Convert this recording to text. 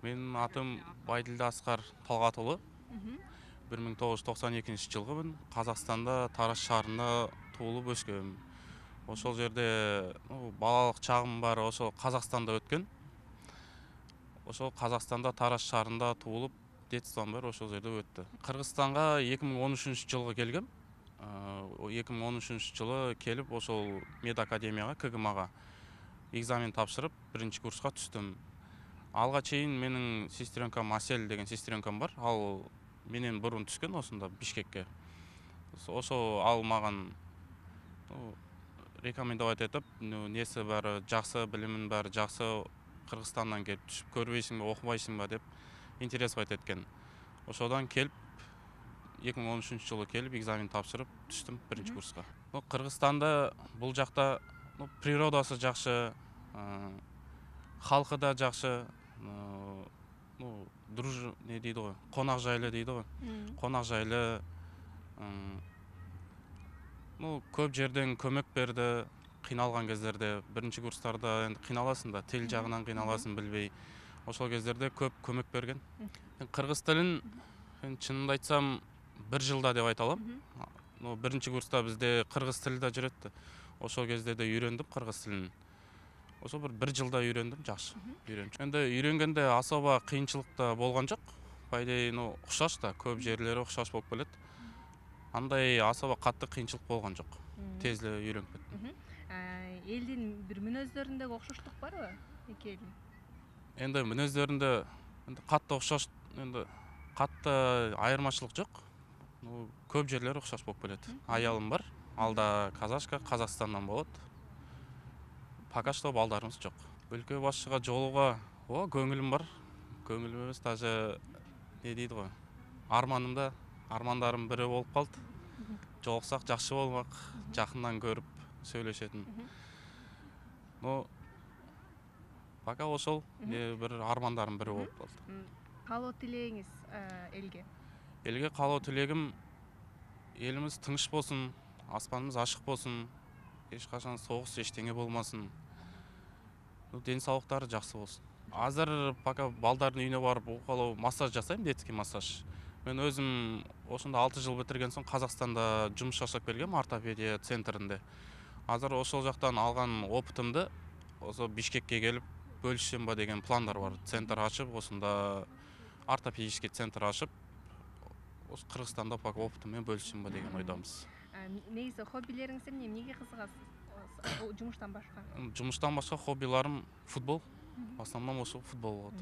Менин атым Байдилди Аскар Талгатұлы. 1992-жылгымын. Казакстанда Тараз шаарында туулуп өскөм. Ошол жерде балалык чагым баары ошол Казакстанда өткөн. Ошол Казакстанда Тараз шаарында туулуп, детством баары ошол жерде өттү. Кыргызстанга 2013-жылы келгем. 2013-жылы келип ошол медакадемияга, КГМага экзамен тапшырып, 1-курска түстүм. Алга чейин менин сестренкам Асель деген сестренкам бар. Ал менен бурун түшкөн осунда Бишкекке. Ошо ал маган рекомендовать этип, неси баары жакшы, билимин баары жакшы, Кыргызстандан келип түшүп көрбөйсүңбү, окубайсыңбы деп интересовать эткен. Ошодон келип 2013-жылы келип экзамен тапшырып түштүм 1-курска. Кыргызстанда бул жакта природасы жакшы, халкы да жакшы, не дейт го, конак жайлы дейт го. Конак жайлы, көп жерден көмөк берди, кыйналган кездерде. 1-курстарда энди кыйналасың да, тил жагынан кыйналасың билбей. Ошол кездерде көп көмөк берген. Кыргыз тилин чынымды айтсам 1 жылда деп айта алам. 1-курста бизде кыргыз тили да жүрөт. Ошол кезде да үйрөндүм кыргыз тилин. Ошо 1 жылда үйрөндүм, жакшы үйрөнчү. Энди үйрөнгөндө особо кыйынчылык да болгон жок. По идее, окшош да, көп жерлери окшош болуп келет. Андай особо катты кыйынчылык болгон жок. Тез эле үйрөнүп кеттим. Элдин бир мүнөздөрүндөгү окшоштук барбы эки элдин? Энди мүнөздөрүндө катты окшош, энди катты айырмачылык жок. Көп жерлери окшош болуп келет. Аялым бар, ал да казашка, Казакстандан болот. Пока что балдарыбыз жок. Өлкө башчыга жолууга көңүлүм бар. Көңүлүм эмес, даже не дейт го, армандарымдын бири болуп калды. Жолуксак жакшы болмак, жакындан көрүп сүйлөшөтүн. Пока ошол бир армандарымдын бири болуп калды. Каалоо тилегиңиз элге? Элге каалоо тилегим элибиз тынч болсун, аспаныбыз ачык болсун, эч качан согуш эчтене болмасын. Ден соолуктары жакшы болсун. Азыр пока балдардын үйүнө барып укалоо массаж жасайм, детский массаж. Мен өзүм ошондо 6 жыл битирген соң Казакстанда жумуш жашап келгем, ортопедия центринде. Азыр ошол жактан алган опытымды ошо Бишкекке келип бөлүшсөмбү деген пландар бар. Центр ачып, ошондо ортопедический центр ачып, Кыргызстанда пока опытым менен бөлүшсөмбү деген ойдомуз. Негизи хоббилериңиз эмне? Эмнеге кызыгасыз? Жумуштан башка? Жумуштан башка хоббиларым футбол. В основном ошо футбол болот.